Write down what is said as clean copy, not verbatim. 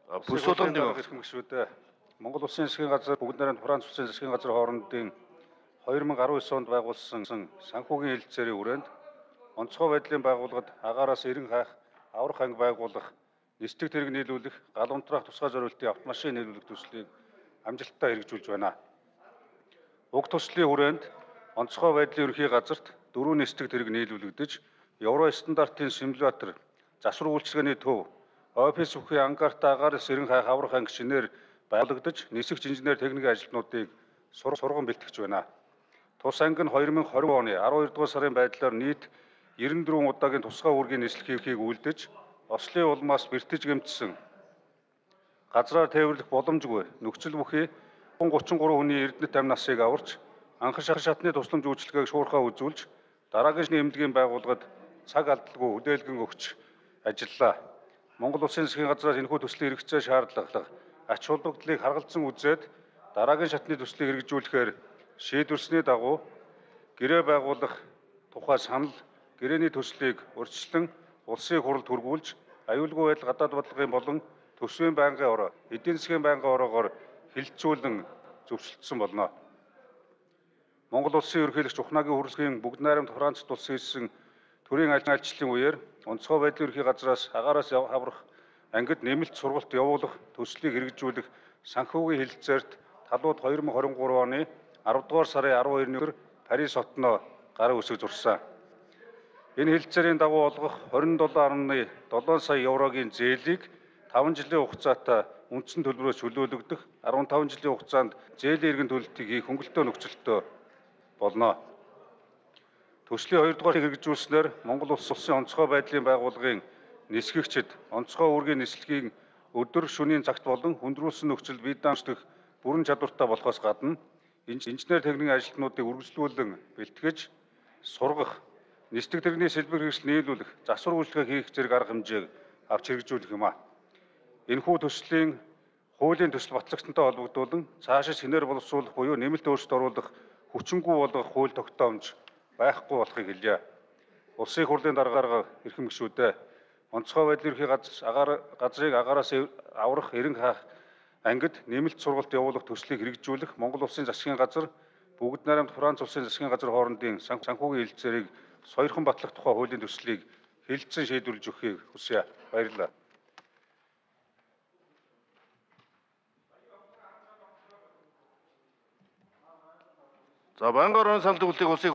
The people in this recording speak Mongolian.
Бүсүүлэн ирэх гишүүд Монгол Улсын засгийн газар бүгд найрамд Франц Улсын засгийн газар хоорондын 2019 онд байгуулсан санхүүгийн хэлэлцээрийн хүрээнд онцгой байдлын байгууллагад агаараас эрен хаах, аврах анги байгуулах, нислэг тэрэг нийлүүлэх, гал унтраах тусгай зорилтын автомашин нийлүүлэх төслийг амжилттай хэрэгжүүлж байна. Уг төслийн хүрээнд онцгой байдлын ерөнхий газарт 4 нислэг тэрэг нийлүүлэгдэж, Евро стандартын симулятор, засвар үйлчилгээний төв, офис бүхий ангарта агаараас эрен хаах, аврах анги шинээр байгуулагдаж, нисгч инженер техникийн ажилтнуудыг сурган бэлтгэж байна. Тус анги нь 2020 оны 12 дугаар сарын байдлаар нийт 94 удаагийн тусгай үүргийн нислэгийг үйлдэж, ослын улмаас бэртэж гэмтсэн газраар тээвэрлэх боломжгүй нөхцөл бүхий 33 хүний эрдэнэт амь насыг аварч, анхан шатны тусламж үйлчилгээг шуурхаа үзүүлж, дараагийн эмнэлгийн байгууллагад цаг алдалгүй хүлээлгэн өгч ажиллаа. Монгол Улсын засгийн газраас энэхүү төслийн хэрэгцээ шаардлага, ач холбогдлыг харгалзан үзээд дараагийн шатны төслийг хэрэгжүүлэхээр шийдвэрсний дагуу гэрээ байгуулах тухай санал, гэрээний төслийг урьдчилан улсын хурлд хүргүүлж, аюулгүй байдал гадаад бодлогын болон төсвийн байнгын ороо, эдийн засгийн байнгын ороогоор хилцүүлэн зөвшөлдсөн болно. Монгол Улсын ерөнхийлөгч Ухнагийн хурлын бүгд найрамд Францд улс хийсэн төрийн альчлалын үеэр онцгой байдлын ерөнхий газраас агаараас аврах ангид нэмэлт сургалт явуулах төслийг хэрэгжүүлэх санхүүгийн хэлэлцээрт талууд 2023 оны 10 дугаар сарын 12-ны Парис хотноо гарын үсэг зурсан. Энэ хэлэлцээрийн дагуу олгох 27.7 сая еврогийн зээлийг 5 жилийн хугацаатай үндсэн төлбөрөөс чөлөөлөгдөх, 15 жилийн хугацаанд зээлийн эргэн төлөлтийг хийх хөнгөлөлтөө нөхцөлтөө болно. Төслийн 2 дугаарыг хэрэгжүүлснээр Монгол Улсын онцгой байдлын байгууллагын нисгэгчид онцгой үүргийн нислэгийн өдөр шөнийн цагт болон хүндрүүлсэн нөхцөл бие даамжлах бүрэн чадвартай болохоос гадна инженер техникийн ажилтнуудыг үргэлжлүүлэн бэлтгэж, сургах, нислэг тэрэгний сэлбэр хэрэгсэл нийлүүлэх, засвар үйлчилгээ хийх зэрэг арга хэмжээг авч хэрэгжүүлэх юм. Энэхүү төслийн хуулийн төсөл батлагдсантай холбогдуулан цаашид шинээр боловсруулах буюу нэмэлт өөрчлөлт оруулах, хүчингүй болгох хууль тогтоомж байхгүй болохыг хэлье. Улсын хурлын дарга эрхэм гишүүдээ онцгой байдлын ерөнхий газрыг агаараас аврах, эрен хаах ангид нэмэлт сургалт явуулах төслийг хэрэгжүүлэх Монгол Улсын засгийн газар бүгд найрамд Франц Улсын засгийн газар хоорондын санхүүгийн хэлэлцээрийг сойрхон батлах тухай хуулийн төслийг хэлэлцэн шийдвэрлэж өгөхийг хүсье. Баярлалаа. За, байнгын орон санал төгөлтийг улсын